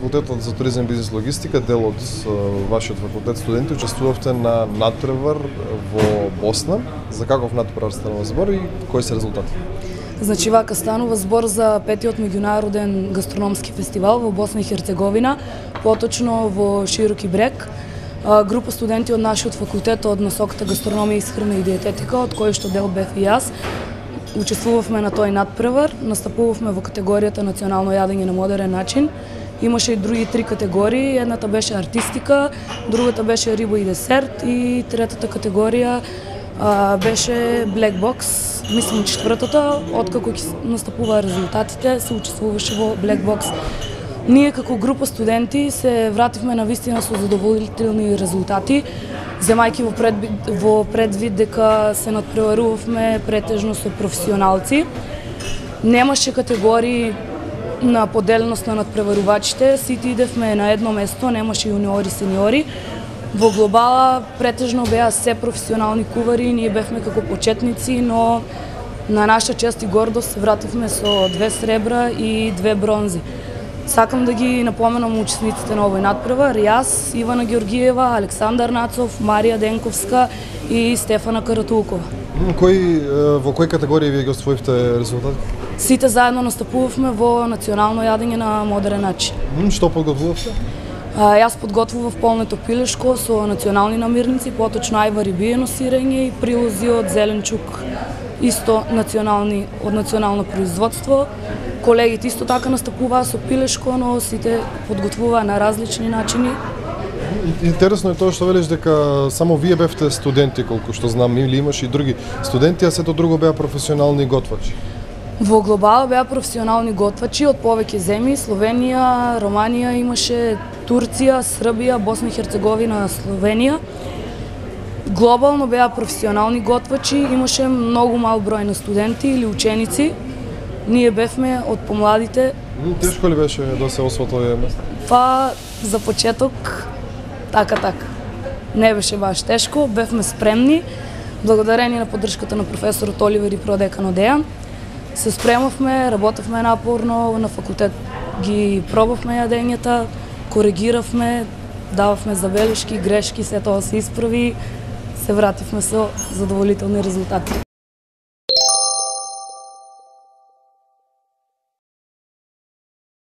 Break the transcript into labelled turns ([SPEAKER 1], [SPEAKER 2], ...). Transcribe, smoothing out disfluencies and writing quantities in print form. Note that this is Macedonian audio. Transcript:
[SPEAKER 1] факултетот за туризам, бизнис, логистика, дел од вашиот факултет студенти учествувавте на надпревар во Босна. За каков надпревар станува збор и кои се резултати?
[SPEAKER 2] Значи вака станува збор за петиот меѓународен гастрономски фестивал во Босна и Херцеговина, поточно во Широки брег. Група студенти од нашиот факултет од насоката гастрономија, исхрана и диететика, од кој што дел бев и јас, учествувавме на тој надпревар, настапувавме во категоријата национално јадење на модерен начин. Имаше и други 3 категории, едната беше артистика, другата беше риба и десерт и третата категорија беше Black Box. Мислам четвртата, откако ќе настапуваа резултатите, се учествуваше во Black Box. Ние како група студенти се вративме на вистина со задоволителни резултати, земајќи во предвид дека се надпреварувавме претежно со професионалци. Немаше категории на поделеност на надпреварувачите, сите идевме на едно место, немаше јуниори, сениори. Во глобала претежно беа се професионални кувари, ние бевме како почетници, но на наша чест и гордост се вративме со 2 сребра и 2 бронзи. Сакам да ги напоменам учесниците на овој надпревар: јас, Ивана Георгиева, Александар Нацов, Марија Денковска и Стефана Каратулкова.
[SPEAKER 1] Во кои категории вие ги освоивте резултати?
[SPEAKER 2] Сите заедно настапувавме во национално јадење на модерен начин.
[SPEAKER 1] Што подготвувавте?
[SPEAKER 2] Јас подготвував полнето пилешко со национални намирници, поточно ајвар и биено сирење и прилози од зеленчук, исто од национално производство. Колегите исто така настапуваа со пилешко, но сите подготвуваа на различни начини.
[SPEAKER 1] Интересно е тоа што велиш дека само вие бевте студенти, колку што знам, или имаше и други студенти, а сето друго беа професионални готвачи?
[SPEAKER 2] Во глобала беа професионални готвачи од повеќе земји: Словенија, Романија имаше, Турција, Србија, Босна и Херцеговина, Словенија. Глобално беа професионални готвачи, имаше многу мал број на студенти или ученици. Ние бевме од помладите.
[SPEAKER 1] Тешко ли беше да се освои тоа место?
[SPEAKER 2] Па, за почеток, така. Не беше баш тешко, бевме спремни. Благодарение на поддршката на професорот Оливер и продекан Дејан, се спремавме, работевме напорно, на факултет ги пробавме јадењата, коригиравме, дававме забелешки, грешки, се тоа се исправи, се вративме со задоволителни резултати.